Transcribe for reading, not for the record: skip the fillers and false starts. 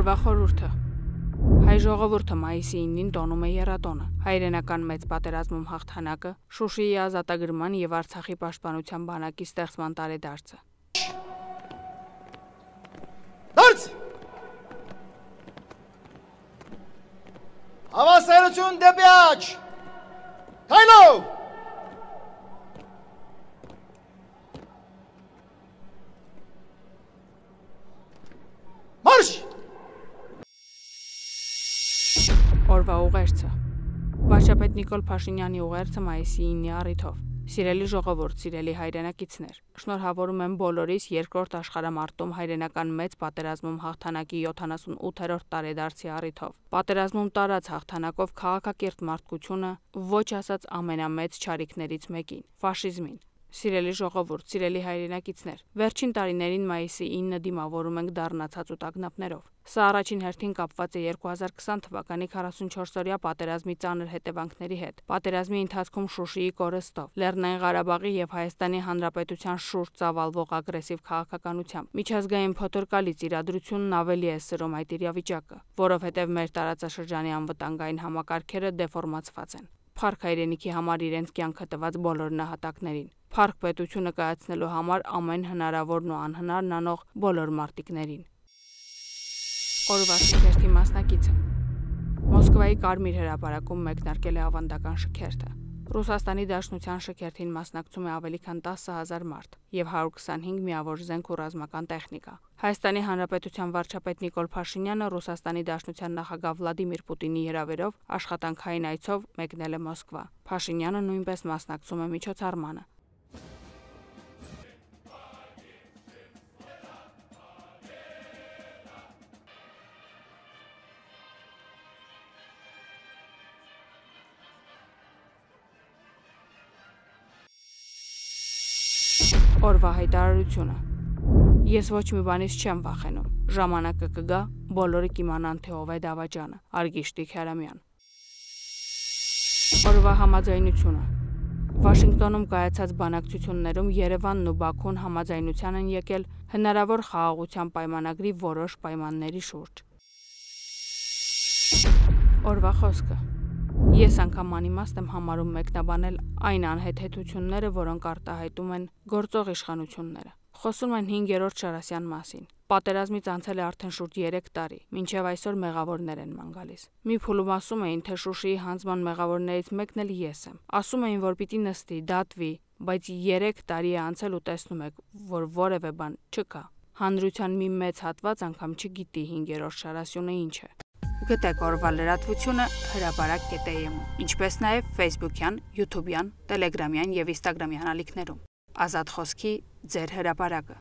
Օրվա խորհուրդը։ Հայ ժողովուրդը մայիսի 9-ին տոնում է եռատոնը, հայրենական մեծ պատերազմում հաղթանակը, Շուշիի ազատագրման և Արցախի պաշտպանության բանակի ստեղծման տարեդարձը։ Դարձ! Հավասարություն դեպի աջ! Քայլով! Մարշ! Օրվա ուղերձը։ Վարչապետ Նիկոլ Փաշինյանի ուղերձը մայիսի 9-ի առիթով։ Սիրելի ժողովուրդ, սիրելի հայրենակիցներ, շնորհավորում եմ բոլորիս երկրորդ աշխարհամարտում հայրենական մեծ պատերազմում հաղթանակի 78-րդ տարեդարձի առիթով։ Պատերազմում տարած հաղթանակով քաղաքակիրթ մարդկությունը ոչ ասած ամենամեծ չարիքներից մեկին՝ ֆաշիզմին։ Սիրելի ժողովուրդ, սիրելի հայրենակիցներ, վերջին տարիներին մայիսի 9-ը դիմավորում ենք դառնացած ու տագնապներով։ Սա առաջին հերթին կապված է 2020 թվականի 44-օրյա պատերազմի ծանր հետևանքների հետ։ Պատերազմի ընթացքում Շուշիի կորստով, Լեռնային Ղարաբաղի և Հայաստանի Հանրապետության շուրջ ծավալվող ագրեսիվ քաղաքականությամբ, միջազգային փոթորկալից իրադրությունն ավելի է սրում այդ իրավիճակը, որովհետև մեր տարածաշրջանի անվտանգային համակարգերը դեֆորմացված են։ Փառք հայրենիքի համար իրենց կյանքը տված բոլոր նահատակներին։ Փառք պետությունը կայացնելու համար ամեն հնարավորն ու անհնարն անող բոլոր մարտիկներին։ Օրվա շքերթի մասնակիցը։ Մոսկվայի Կարմիր հրապարակում մեկնարկել է ավանդական շքերթը։ Ռուսաստանի Դաշնության շքերթին մասնակցում է ավելի քան 10,000 մարդ և 125 միավոր զենք ու ռազմական տեխնիկա։ Հայաստանի Հանրապետության վարչապետ Նիկոլ Փաշինյանը Ռուսաստանի Դաշնության նախագահ Վլադիմիր Պուտինի հրավերով աշխատանքային այցով մեկնել է Մոսկվա։ Փաշինյանը նույնպես մասնակցում է միջոցառմանը։ Օրվա հայտարարությունը։ Ես ոչ մի բանից չեմ վախենում։ Ժամանակը կգա, բոլորը կիմանան, թե ով է դավաճանը։ Արգիշտի Քյարամյան։ Օրվա համաձայնությունը։ Վաշինգտոնում կայացած բանակցություններում Երևանն ու Բաքուն համաձայնության են եկել հնարավոր խաղաղության պայմանագրի որոշ պայմանների շուրջ։ Օրվա խոսքը։ Ես անգամ անիմաստ եմ համարում մեկնաբանել այն անհեթեթությունները, որոնք արտահայտում են գործող իշխանությունները։ Խոսում են 5-րդ Շարասյան մասին։ Պատերազմից անցել է արդեն շուրջ 3 տարի, մինչև այսօր մեղավորներ են ման գալիս։ Մի փուլում ասում էին, թե Շուշիի հանձնման մեղավորներից մեկն էլ ես եմ։ Ասում էին, որ պիտի նստի, դատվի, բայց 3 տարի է անցել ու տեսնում եք, որ որևէ բան չկա։ Հանրության մի մեծ հատված անգամ չգիտի 5-րդ Շարասյունը ինչ է։ Գտեք օրվա լրատվությունը հրապարակ.am, ինչպես նաև Facebook-յան, YouTube-յան, Telegram-յան և Instagram-յան ալիքներում։ Ազատ խոսքի ձեր հրապարակը։